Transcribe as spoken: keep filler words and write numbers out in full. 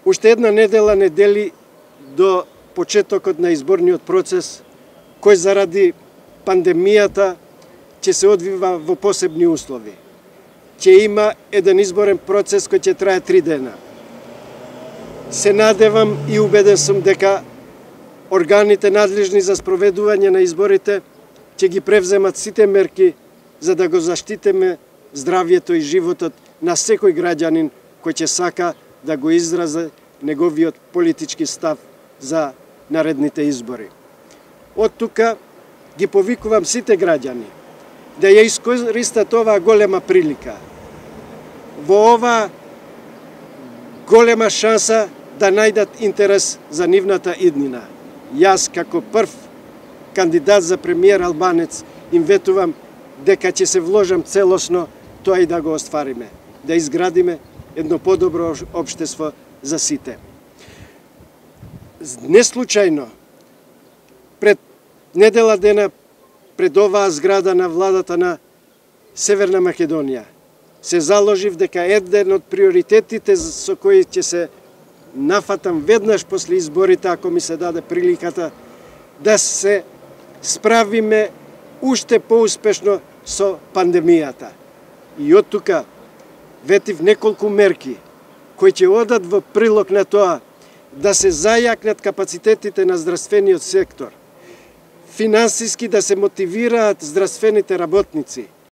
Уште една недела не дели до почетокот на изборниот процес, кој заради пандемијата ќе се одвива во посебни услови. Ќе има еден изборен процес кој ќе трае три дена. Се надевам и убеден сум дека органите надлежни за спроведување на изборите ќе ги превземат сите мерки за да го заштитиме здравјето и животот на секој граѓанин кој ќе сака да го изрази неговиот политички став за наредните избори. Од тука ги повикувам сите граѓани да ја искористат оваа голема прилика, во оваа голема шанса да најдат интерес за нивната иднина. Јас како прв кандидат за премиер албанец им ветувам дека ќе се вложам целосно тоа и да го оствариме, да изградиме едно подобро општество за сите. Не случајно, пред недела дена, пред оваа зграда на владата на Северна Македонија, се заложив дека еден од приоритетите со кои ќе се нафатам веднаш после изборите, ако ми се даде приликата, да се справиме уште поуспешно со пандемијата. И од тука ветив неколку мерки кои ќе одат во прилог на тоа да се зајакнат капацитетите на здравствениот сектор, финансиски да се мотивираат здравствените работници,